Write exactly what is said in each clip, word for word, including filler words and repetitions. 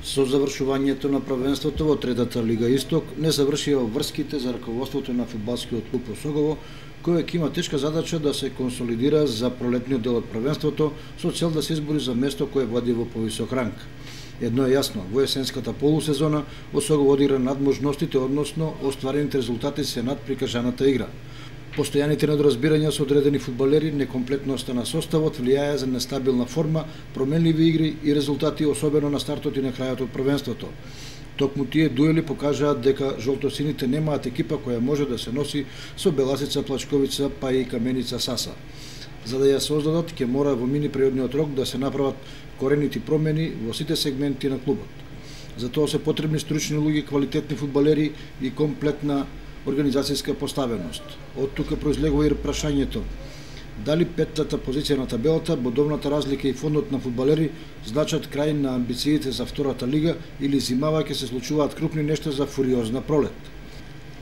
Со завршувањето на првенството во третата Лига Исток не завршија врските за раководството на фудбалскиот клуб Осогово, кој ќе има тешка задача да се консолидира за пролетниот дел од првенството со цел да се избори за место кое влади во повисок ранг. Едно е јасно, во есенската полусезона Осогово одигра надможностите, односно остварените резултати се над прикажаната игра. Постојаните недоразбирања со одредени фудбалери, некомплетноста на составот влијаја за нестабилна форма, променливи игри и резултати, особено на стартот и на крајот од првенството. Токму тие дуели покажаат дека жолтосините немаат екипа која може да се носи со Беласица, Плачковица, па и Каменица Саса. За да ја создадат, ќе мора во мини периодниот рок да се направат коренити промени во сите сегменти на клубот. За тоа се потребни стручни луѓе, квалитетни фудбалери и комплетна организацијска поставеност. Од тука произлегува и прашањето: дали петтата позиција на табелата, бодовната разлика и фондот на фудбалери значат крај на амбициите за втората лига или зимава ќе се случуваат крупни нешта за фуриозна пролет?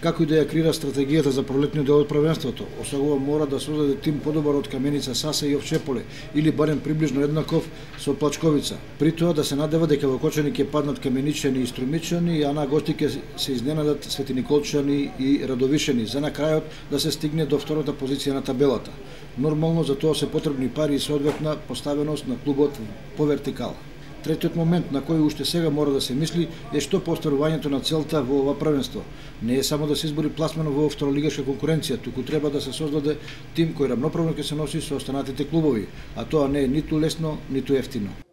Како и да ја креира стратегијата за пролетниот дел од првенството, Осогово мора да создаде тим подобар од Каменица Саса и Овчеполе, или барем приближно еднаков со Плачковица. При тоа да се надева дека во Кочани ќе паднат Каменичани и Струмичани, а на гости ќе се изненадат Светиниколчани и Радовишани, за на крајот да се стигне до втората позиција на табелата. Нормално за тоа се потребни пари и соодветна поставеност на клубот по вертикала. Третиот момент на кој уште сега мора да се мисли е што по остварувањето на целта во ова првенство. Не е само да се избори пласмано во второлигашка конкуренција, туку треба да се создаде тим кој рамноправно ќе се носи со останатите клубови, а тоа не е ниту лесно, ниту ефтино.